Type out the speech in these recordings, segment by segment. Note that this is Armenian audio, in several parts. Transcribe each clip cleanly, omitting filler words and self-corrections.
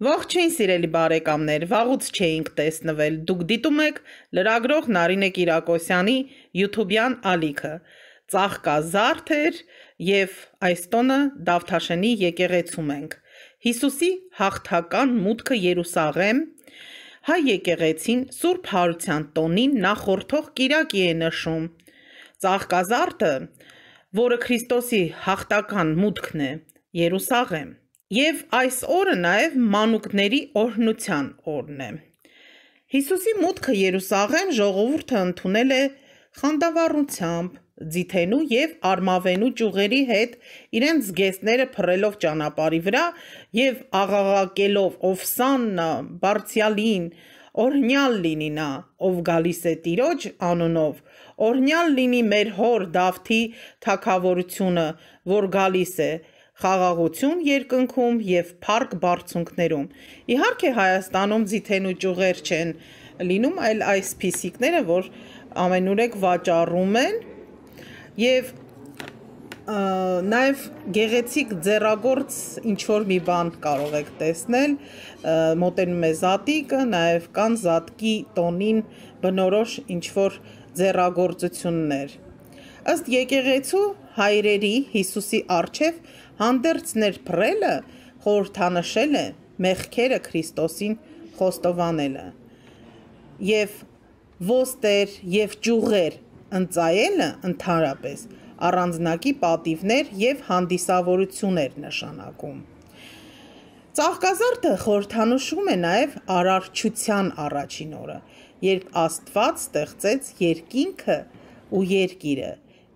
Ողջույն սիրելի բարեկամներ, վաղուց չէինք տեսնվել, դուք դիտում եք լրագրող Նարինե Կիրակոսյանի YouTube-յան ալիքը, ծաղկազարդ էր և այս տոնը Դավթաշենի եկեղեցում ենք, Հիսուսի հաղթական մուտքը Երուսաղեմ, հայ եկեղեցին Սուրբ Հարության տոնին նախորդող կիրակի է նշում, ծաղկազարդը, որը Քրիստոսի հաղթական մուտքն է Երուսաղեմ, և այս օրը նաև մանուկների օրհնության օրն է։ Հիսուսի մուտքը Երուսաղեմ ժողովուրդը ընդունել է խանդավառությամբ, ձիթենու և արմավենու ճյուղերի հետ իրենց զգեստները փռելով ճանապարհի վրա և աղաղակելով «Ովսաննա, բարձրյալին, օրհնյալ լինի նա, ով գալիս է Տիրոջ անունով, օրհնյալ լինի մեր հոր Դավթի թագավորությունը, որ գալիս է, խաղաղություն երկնքում և փառք բարձունքներում»։ Իհարկե Հայաստանում ձիթենու ճյուղեր չեն լինում, այլ այսպիսիքները, որ ամենուրեք վաճառում են, և նաև գեղեցիկ ձեռագործ ինչ-որ մի բան կարող եք տեսնել, մոտենում է զատիկը, նաև կան զատկի տոնին բնորոշ ինչ-որ ձեռագործություններ։ Ըստ եկեղեցու հայրերի Հիսուսի առջև հանդերձներ փռելը խորհրդանշել է մեղքերը Քրիստոսին խոստովանելը, և ոստեր և ճյուղեր ընծայելը ընդհանրապես առանձնակի պատիվներ և հանդիսավորություն էր նշանակում։ Ծաղկազարդը խորհրդանշում է նաև արարչության առաջին օրը, երբ Աստված ստեղծեց երկինքը ու երկիրը,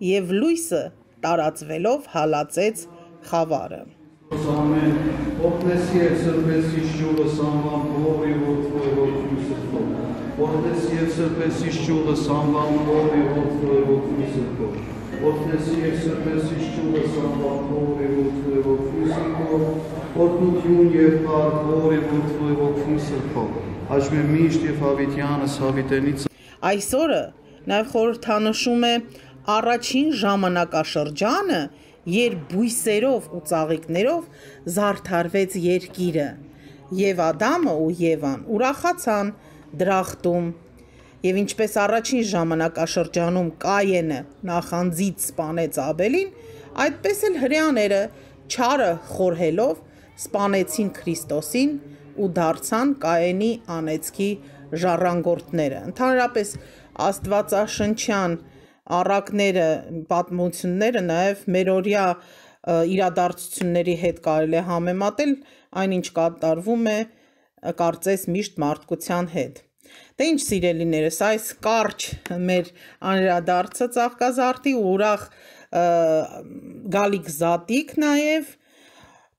և լույսը տարածվելով հալածեց խավարը։ Այս օրը նաև խորհրդանշում է առաջին ժամանակաշրջանը, երբ բույսերով ու ծաղիկներով զարդարվեց երկիրը, և Ադամը ու Եվան ուրախացան դրախտում, և ինչպես առաջին ժամանակաշրջանում Կայենը նախանձից սպանեց Աբելին, այդպես էլ հրեաները չարը խորհելով սպանեցին Քրիստոսին ու դարձան Կայենի անեծքի ժառանգորդները։ Ընդհանրապես աստվածաշնչյան առակները, պատմությունները նաև մերօրյա իրադարձությունների հետ կարելի է համեմատել, այնինչ կատարվում է կարծես միշտ մարդկության հետ։ Դե ինչ սիրելիներս, այս կարճ մեր անդրադարձը ծաղկազարդի ու ուրախ գալիք զատիկ նաև,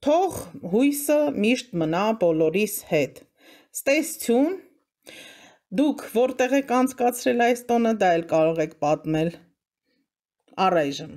թող հույսը միշտ մնա բոլորիս հետ։ Ստեսություն, դուք որտեղ եք անցկացրել այս տոնը, դա էլ կարող եք պատմել։ Առայժմ